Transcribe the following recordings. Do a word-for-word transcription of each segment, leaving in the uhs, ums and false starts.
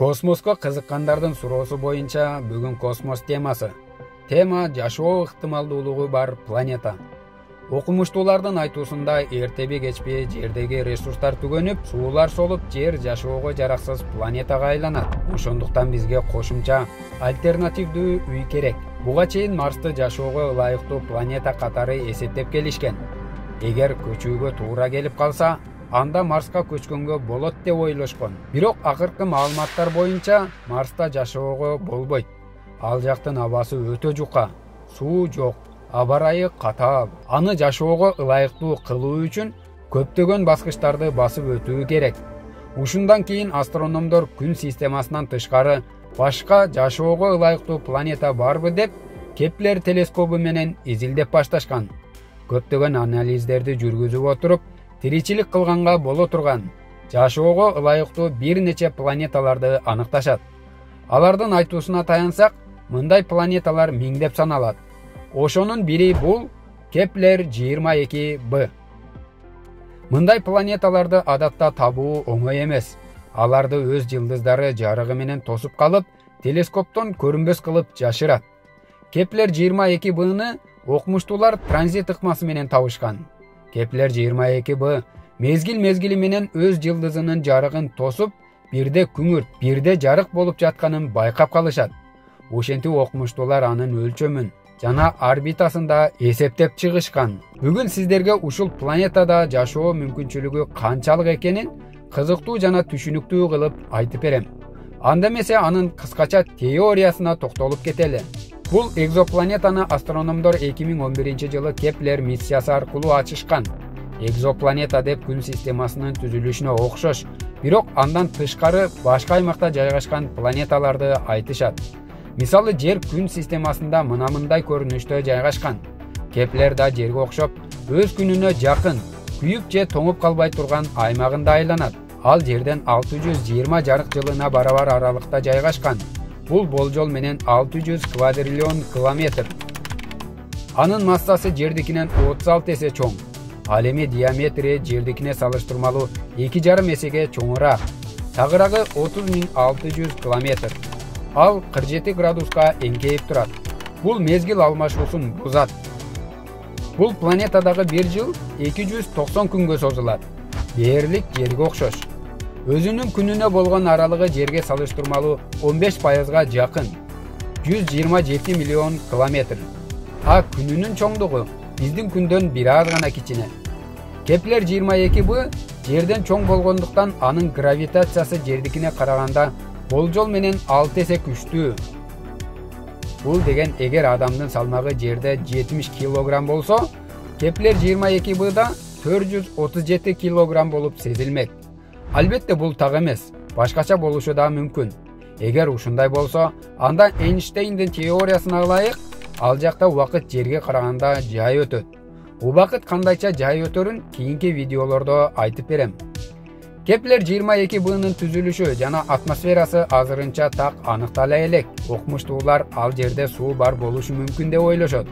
Космоско кызыккандардын суроосу боюнча бүгүн космос темасы. Тема жашоо ыктымалдуулугу бар планета. Окумуштуулардын айтуусунда эртеби кечпи жердеги ресурстар түгөнүп, суулар солуп, жер жашоого жараксыз планетага айланат. Ошондуктан бизге кошумча альтернативдүү үй керек. Буга чейин Марсты жашоого ылайыктуу планета катары эсептеп келишкен. Эгер көчүүгө туура келип калса, анда Марска көчкөнгө болот деп ойлошкон. Бирок акыркы маалыматтар боюнча Марста жашоого болбойт. Ал жактын абасы өтө жука, суу жок, аба ырайы катаал. Аны жашоого ылайыктуу кылуу үчүн көптөгөн баскычтарды басып өтүү керек. Ушундан кийин астрономдор күн системасынан тышкары башка жашоого ылайыктуу планета барбы деп Кеплер телескобу менен изилдеп башташкан. Көптөгөн анализдерди жүргүзүп отуруп, тиричилик кылганга боло турган жашоого ылайыктуу бир нече планеталарды аныкташат. Алардын айтуусуна таянсак, мындай планеталар миңдеп саналат. Ошонун бири бул Кеплер жыйырма эки б. Мындай планеталарды адатта табуу оңой эмес. Аларды өз жылдыздары жарыгы менен тосуп калып, телескоптон көрүнбөс кылып жашырат. Кеплер жыйырма эки бны окумуштуулар транзит ыкмасы менен табышкан. Кеплер жыйырма эки б мезгил-мезгили менен өз жылдызынын жарыгын тосуп, бирде күңүрт, бирде жарык болуп жатканын байкап калышат. Ошентип окумуштуулар анын өлчөмүн жана орбитасында эсептеп чыгышкан. Бүгүн сиздерге ушул планетада жашоо мүмкүнчүлүгү канчалык экенин кызыктуу жана түшүнүктүү кылып айтып берем. Анда эмесе анын кыскача теориясына токтолуп кетели. Бул экзопланетаны астрономдор эки миң он биринчи жылы Кеплер миссиясы аркылуу ачышкан. Экзопланета деп күн системасынын түзүлүшүнө окшош, бирок андан тышкары башка аймакта жайгашкан планеталарды айтышат. Мисалы, жер күн системасында мына-мындай көрүнүштө жайгашкан. Кеплер да жерге окшоп, өз күнүнө жакын, күйүп же тоңуп калбай турган аймагында айланат. Ал жерден алты жүз жыйырма жарык жылына барабар аралыкта жайгашкан. Бул болжол менен алты жүз квадриллион километр. Анын массасы жердикинен отуз алты эсе чоң. Ал эми диаметри жердикине салыштырмалуу эки жарым эсеге чоңураак. Тагырагы отуз миң алты жүз километр. Ал кырк жети градуска эңкейип турат. Бул мезгил алмашуусун бузат. Бул планетадагы бир жыл эки жүз токсон күнгө созулат. Дээрлик жерге окшош. Өзүнүн күнүнө болгон аралыгы жерге салыштырмалуу он беш пайызга жакын, жүз жыйырма жети миллион километр. А күнүнүн чоңдугу биздин күндөн бир аз гана кичине. Кеплер жыйырма эки б жерден чоң болгондуктан анын гравитациясы жердикине караганда болжол менен алты эсе күчтүү. Бул деген эгер адамдын салмагы жерде жетимиш килограмм болсо, Кеплер жыйырма эки бда төрт жүз отуз жети килограмм болуп сезилмек. Албетте бул так эмес, башкача болушу да мүмкүн. Эгер ушундай болсо, анда Эйнштейндин теориясына ылайык, ал жакта убакыт жерге караганда жай өтөт. Убакыт кандайча жай өтөрүн кийинки видеолордо айтып берем. Кеплер жыйырма эки бнын түзүлүшү жана атмосферасы азырынча так аныктала элек. Окумуштуулар ал жерде суу бар болушу мүмкүн деп ойлошот.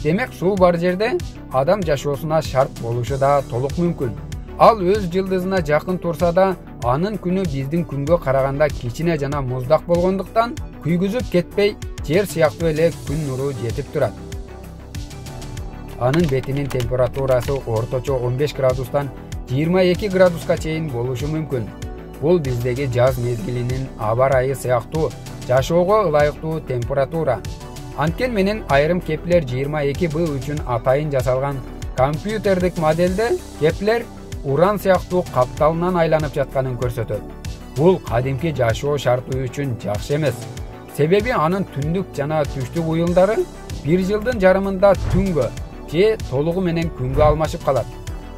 Демек, суу бар жерде адам жашоосуна шарт болушу да толук мүмкүн. Ал өз жылдызына жакын турса да, анын күнү биздин күнгө караганда кичине жана муздак болгондуктан күйгүзүп кетпей, жер сыяктуу эле күн нуру жетип турат. Анын бетинин температурасы орточо он беш градустан жыйырма эки градуска чейин болушу мүмкүн. Бул биздеги жаз мезгилинин аба ырайы сыяктуу жашоого ылайыктуу температура. Анткени менен айрым Кеплер жыйырма эки б үчүн атайын жасалган компьютердик модельде Кеплер уран сыяктуу капталынан айланып жатканын көрсөтөт. Бул кадимки жашоо шарты үчүн жакшы эмес. Себеби анын түндүк жана түштүк уюлдары бир жылдын жарымында түнгө же толугу менен күнгө алмашып калат.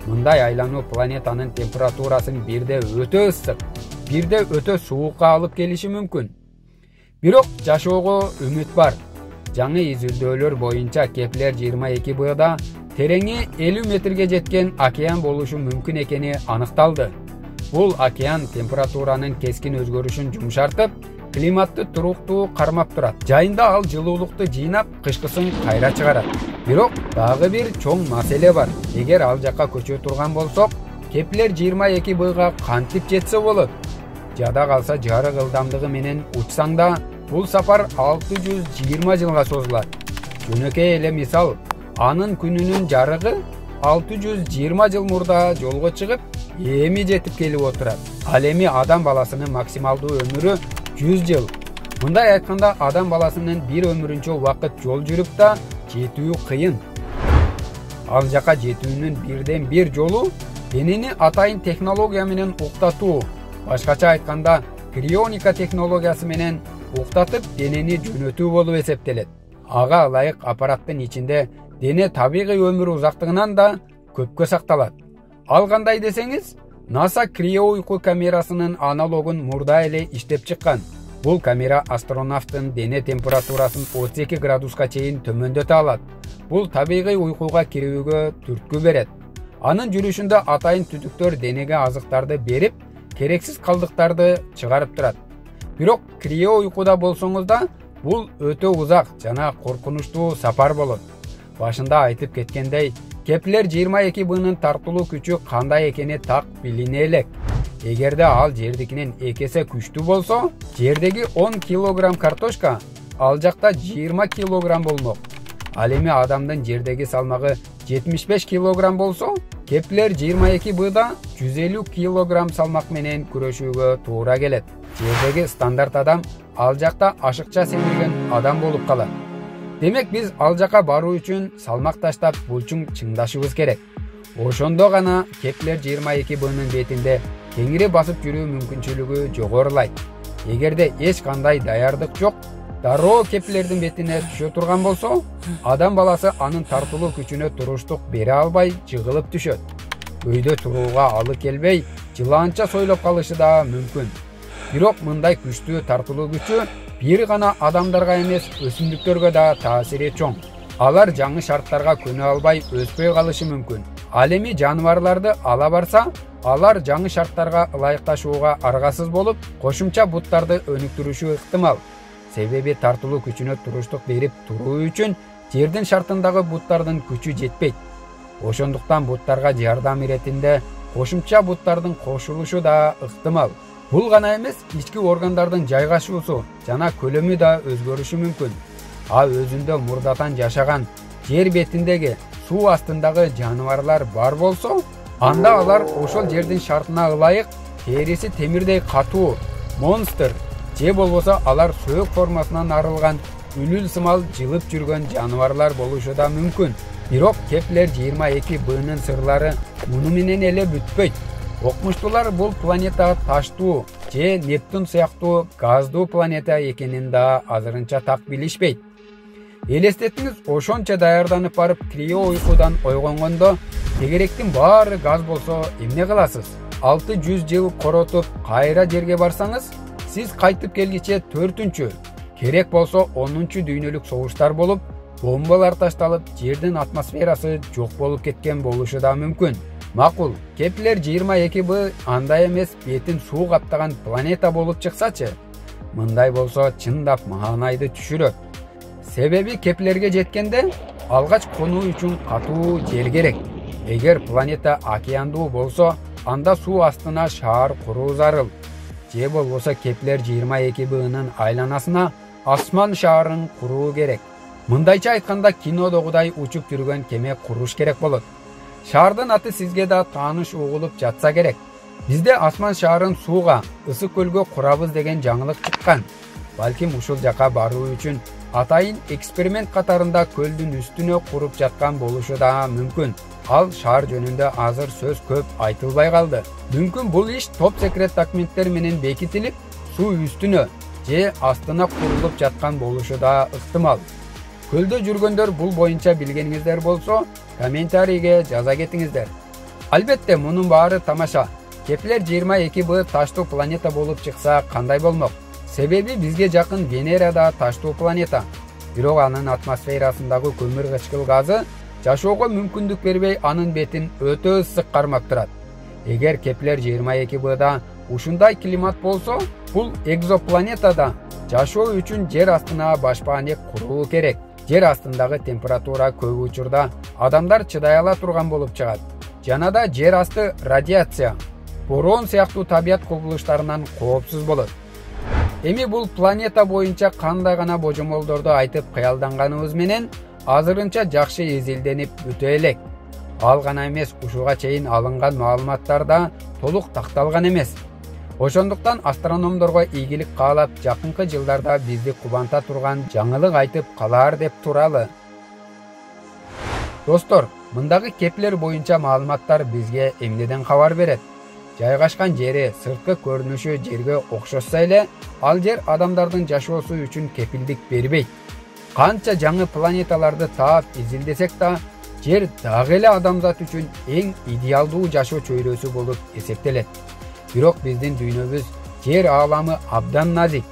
Мындай айлануу планетанын температурасын бирде өтө ысык, бирде өтө суукка алып келиши мүмкүн. Бирок жашоого үмүт бар. Жаңы изилдөөлөр боюнча Кеплер жыйырма эки бда тереңи элүү метрге жеткен океан болушу мүмкүн экени аныкталды. Бул океан температуранын кескин өзгөрүшүн жумшартып, климатты туруктуу кармап турат. Жайында ал жылуулукту жыйнап, кышкысын кайра чыгарат. Бирок дагы бир чоң маселе бар. Эгер ал жакка көчө турган болсок, Кеплер жыйырма эки бга кантип жетсе болот? жада калса жарык ылдамдыгы менен учсаң да бул сапар алты жүз жыйырма жылга созулат. Жөнөкөй эле мисал, анын күнүнүн жарыгы алты жүз жыйырма жыл мурда жолго чыгып, эми жетип келип отурат. Ал эми адам баласынын максималдуу өмүрү жүз жыл. Мындай айтканда, адам баласынын бир өмүрүнчө убакыт жол жүрүп да жетүү кыйын. Ал жака жетүүнүн бирден бир жолу денени атайын технология менен уктатуу. Башкача айтканда, крионика технологиясы менен уктатып денени жөнөтүү болуп эсептелет. Ага ылайык аппараттын ичинде дене табигый өмүр узактыгынан да көпкө сакталат. Ал кандай десеңиз, НАСА крио уйку камерасынын аналогун мурда эле иштеп чыккан. Бул камера астронавттын дене температурасын отуз эки градуска чейин төмөндөтө алат. Бул табигый уйкуга кирүүгө түрткү берет. Анын жүрүшүндө атайын түтүктөр денеге азыктарды берип, керексиз калдыктарды чыгарып турат. Бирок крио уйкуда болсоңуз да, бул өтө узак жана коркунучтуу сапар болот. Башында айтып кеткендей, Кеплер жыйырма эки бнын тартылуу күчү кандай экени так билине элек. Эгерде ал жердикинен эки эсе күчтүү болсо, жердеги он килограмм картошка ал жакта жыйырма килограмм болмок. Ал эми адамдын жердеги салмагы жетимиш беш килограмм болсо, Кеплер жыйырма эки бда жүз элүү килограмм салмак менен күрөшүүгө туура келет. Жердеги стандарт адам ал жакта ашыкча семирген адам болуп калат. Демек биз ал жака баруу үчүн салмак таштап булчуң чыңдашыбыз керек. Ошондо гана Кеплер жыйырма эки бнын бетинде кеңири басып жүрүү мүмкүнчүлүгү жогорулайт. Эгерде эч кандай даярдык жок, дароо Кеплердин бетине түшө турган болсо, адам баласы анын тартылуу күчүнө туруштук бере албай жыгылып түшөт. Өйдө турууга алы келбей, жылаанча сойлоп калышы да мүмкүн. Бирок мындай күчтүү тартылуу күчү бир гана адамдарга эмес, өсүмдүктөргө да таасири чоң. Алар жаңы шарттарга көнө албай өспөй калышы мүмкүн. Ал эми жаныбарларды ала барса, алар жаңы шарттарга ылайыкташууга аргасыз болуп, кошумча буттарды өнүктүрүшү ыктымал. Себеби тартылуу күчүнө туруштук берип туруу үчүн жердин шартындагы буттардын күчү жетпейт. Ошондуктан буттарга жардам иретинде кошумча буттардын кошулушу да ыктымал. Бул гана эмес, ички органдардын жайгашуусу жана көлөмү да өзгөрүшү мүмкүн. А өзүндө мурдатан жашаган жер бетиндеги суу астындагы жаныбарлар бар болсо, анда алар ошол жердин шартына ылайык териси темирдей катуу, монстр, же болбосо алар сөөк формасынан арылган үлүл сымал жылып жүргөн жаныбарлар болушу да мүмкүн. Бирок Кеплер жыйырма эки бнын сырлары муну менен эле бүтпөйт. Окумуштуулар бул планета таштуу же Нептун сыяктуу газдуу планета экенин да азырынча так билишпейт. Элестетиңиз, ошончо даярданып барып крио уйкудан ойгонгондо тегеректин баары газ болсо эмне кыласыз? алты жүз жыл коротуп кайра жерге барсаңыз, сиз кайтып келгиче төртүнчү, керек болсо онунчу дүйнөлүк согуштар болуп, бомбалар ташталып, жердин атмосферасы жок болуп кеткен болушу да мүмкүн. Макул, Кеплер жыйырма эки б андай эмес бетин суу каптаган планета болуп чыксачы, мындай болсо чындап маанайды түшүрөт. Себеби Кеплерге жеткенде алгач конуу үчүн катуу жер керек. Эгер планета океандуу болсо, анда суу астына шаар куруу зарыл. Же болбосо Кеплер жыйырма эки бнын айланасына асман шаарын куруу керек. Мындайча айтканда, кинодогудай учуп жүргөн кеме куруш керек болот. Шаардын аты сизге да тааныш угулуп жатса керек. Бизде асман шаарын сууга, ысык көлгө курабыз деген жаңылык чыккан. Балким ушул жака баруу үчүн атайын эксперимент катарында көлдүн үстүнө куруп жаткан болушу да мүмкүн. Ал шаар жөнүндө азыр сөз көп айтылбай калды. Мүмкүн бул иш топ секрет документтер менен бекитилип, суу үстүнө же астына курулуп жаткан болушу да ыктымал. Көлдө жүргөндөр бул боюнча билгениңиздер болсо, комментарийге жаза кетиңиздер. Албетте, мунун баары тамаша. Кеплер жыйырма эки б таштуу планета болуп чыкса кандай болмок? Себеби бизге жакын Венера да таштуу планета. Бирок анын атмосферасындагы көмүр кычкыл газы жашоого мүмкүндүк бербей, анын бетин өтө ысык кармап турат. Эгер Кеплер жыйырма эки бда ушундай климат болсо, бул экзопланетада жашоо үчүн жер астына башпаанек куруу керек. Жер астындагы температура көп учурда адамдар чыдай ала турган болуп чыгат. Жана да жер асты радиация. бороон сыяктуу табият кубулуштарынан коопсуз болот. Эми бул планета боюнча кандай гана божомолдорду айтып кыялданганыбыз менен азырынча жакшы изилденип бүтө элек. Ал гана эмес, ушуга чейин алынган маалыматтар да толук такталган эмес. Ошондуктан астрономдорго ийгилик каалап, жакынкы жылдарда бизди кубанта турган жаңылык айтып калаар деп туралы. Достор, мындагы Кеплер боюнча маалыматтар бизге эмнеден кабар берет? Жайгашкан жери, сырткы көрүнүшү жерге окшошсо эле, ал жер адамдардын жашоосу үчүн кепилдик бербейт. Канча жаңы планеталарды таап изилдесек да, жер дагы эле адамзат үчүн эң идеалдуу жашоо чөйрөсү болуп эсептелет. Бирок биздин дүйнөбүз, жер ааламы абдан назик.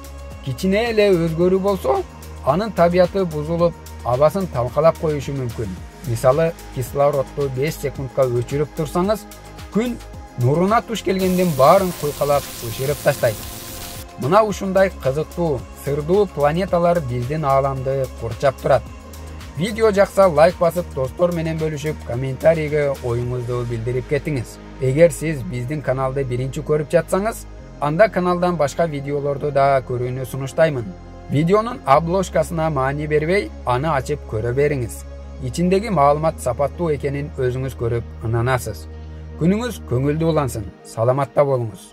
Кичине эле өзгөрүү болсо, анын табияты бузулуп, абасын талкалап коюшу мүмкүн. Мисалы, кислородду беш секундка өчүрүп турсаңыз, күн нуруна туш келгенден баарын куйкалап өчүрүп таштайт. Мына ушундай кызыктуу, сырдуу планеталар биздин ааламды курчап турат. Видео жакса лайк басып, достор менен бөлүшүп, комментарийге оюңузду билдирип кетиңиз. Эгер сиз биздин каналды биринчи көрүп жатсаңыз, анда каналдан башка видеолорду да көрүүнү сунуштаймын. Видеонун обложкасына маани бербей, аны ачып көрө бериңиз. Ичиндеги маалымат сапаттуу экенин өзүңүз көрүп ынанасыз. Күнүңүз көңүлдүү улансын. Саламатта болуңуз.